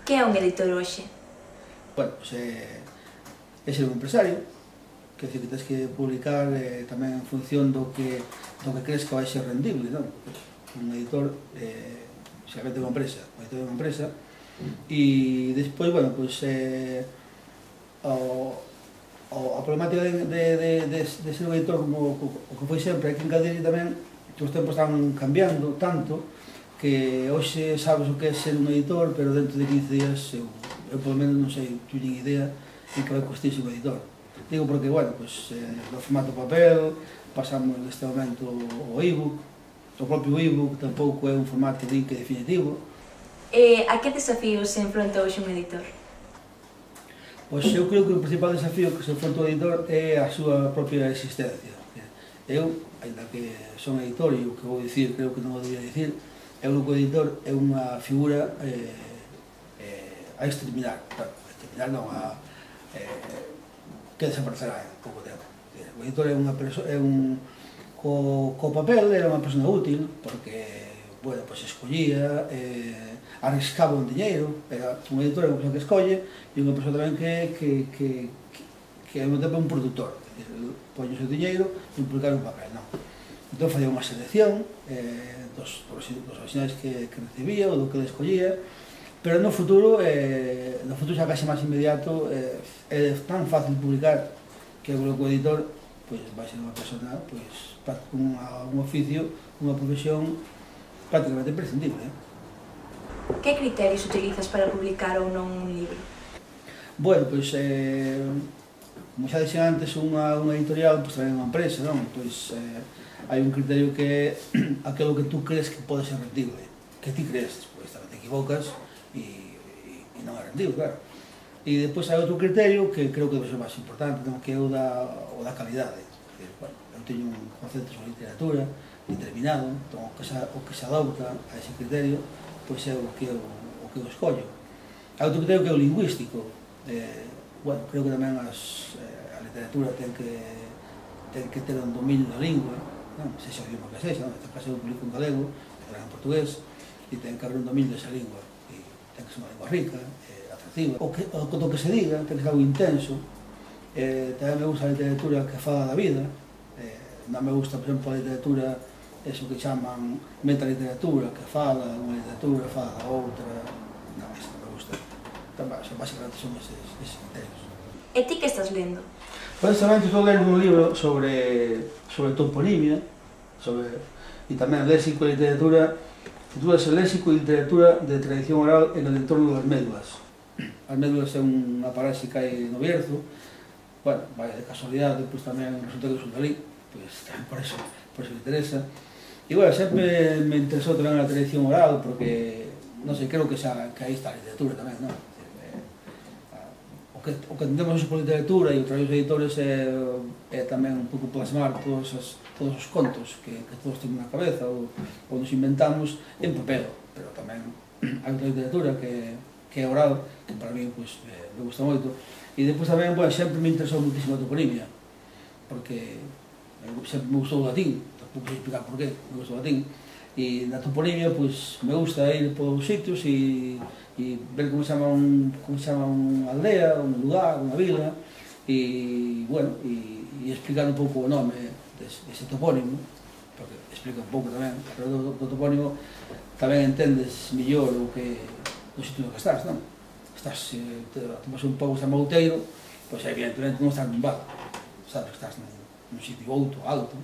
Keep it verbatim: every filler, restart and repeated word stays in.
Que é un editor hoxe? Bueno, pues, é, é ser un empresario, que decir que tens que publicar eh, tamén en función do que, do que crees que vai ser rendible, non? Un editor, eh, xeralmente é unha empresa, un editor é unha empresa, e despois, bueno, pues, eh, o, o, a problemática de, de, de, de, de ser un editor como o que foi sempre, hai que engadir tamén que os tempos están cambiando tanto que hoxe sabes o que é ser un editor, pero dentro de quince días eu, eu polo menos non sei, tu nin idea de que vai costar un editor. Digo porque, bueno, pues, eh, do formato papel, pasamos neste momento o e-book, o propio e-book tampouco é un formato din que definitivo. E a que desafíos se enfronta hoxe un editor? Pois eu creo que o principal desafío que se enfronta o editor é a súa propia existencia. Eu, ainda que son editor, e o que vou dicir creo que non o debía dicir, eu creo que o editor é unha figura eh, eh, a exterminar, claro, a exterminar non, a, eh, que desaparecerá en pouco tempo. O editor é unha persoa, é un, co, co papel era unha persona útil, porque, bueno, pues escollía, eh, arriscaba un diñeiro, era un editor é unha persona que escolle, e unha persona tamén que, que, que, que, que é un tempo un produtor, poñe o seu diñeiro e publicar un papel, non? Entón facía unha selección eh, dos, dos, dos originais que, que recibía ou do que escollía, pero no futuro, eh, no futuro xa case máis inmediato, eh, é tan fácil publicar que o grupo editor pues, vai ser unha persona pues, con un oficio, unha profesión prácticamente imprescindible. Eh? Que criterios utilizas para publicar ou non un libro? Bueno, pois, eh, como xa dixen antes, unha, unha editorial, pois tamén unha empresa, non? Pois eh, hai un criterio que é aquilo que tú crees que pode ser rendible, que ti crees, pois tamén te equivocas e, e, e non é rendible, claro. E depois hai outro criterio que creo que debe ser máis importante, non? Que é o da, o da calidade. Que, bueno, eu teño un concepto sobre literatura determinado, entón o que se, o que se adopta a ese criterio, pois é o que eu, o que eu escollo. Hai outro criterio que é o lingüístico. Eh, bueno, creo que tamén as, eh, a literatura ten que, ten que ter un dominio da lingua, non? Sexa o idioma que sexa, non? Neste caso eu publico en galego, en portugués, e ten que haber un dominio desa lingua. E ten que ser unha lingua rica, eh, atractiva. O que, o, o que se diga ten que ser algo intenso. Eh, tamén me gusta a literatura que fala da vida. Eh, non me gusta, por exemplo, a literatura, eso que chaman metaliteratura, que fala unha literatura, fala da outra. Non, eso non me gusta. Básicamente son eses, eses criterios. E ti que estás lendo? Precisamente estou lendo un libro sobre, sobre toponimia, sobre, e tamén léxico e literatura, titúlase Léxico e literatura de tradición oral en el entorno das médulas. As médulas é unha paraxe que hai no Bierzo, bueno, vai de casualidade, pois tamén resulta que son dali, pois tamén por eso, por eso me interesa. E, bueno, sempre me interesou tamén a tradición oral, porque, non sei, creo que, xa, que aí está a literatura tamén, non? O que, o que entendemos por literatura e o traballo dos editores é, é tamén un pouco plasmar todos os, todos os contos que, que todos temos na cabeza ou, ou nos inventamos en papel, pero tamén hai outra literatura que, que é oral, que para mí pues, eh, me gusta moito. E depois tamén, bueno, sempre me interesou muitísimo a toponimia, porque sempre me gustou o latín, tampouco sei explicar por qué, me gustou o latín, e na toponimia pues, me gusta ir por sitios e e ver como se chama un, como se chama unha aldea, un lugar, unha vila, e, bueno, e, e explicar un pouco o nome dese, dese topónimo, porque explica un pouco tamén, pero do, do topónimo tamén entendes millor o que, o sitio no que estás, non? Estás, eh, te, tomas un pouco San Mouteiro, pois evidentemente non estás nun bar, sabes que estás nun, nun sitio outro, alto,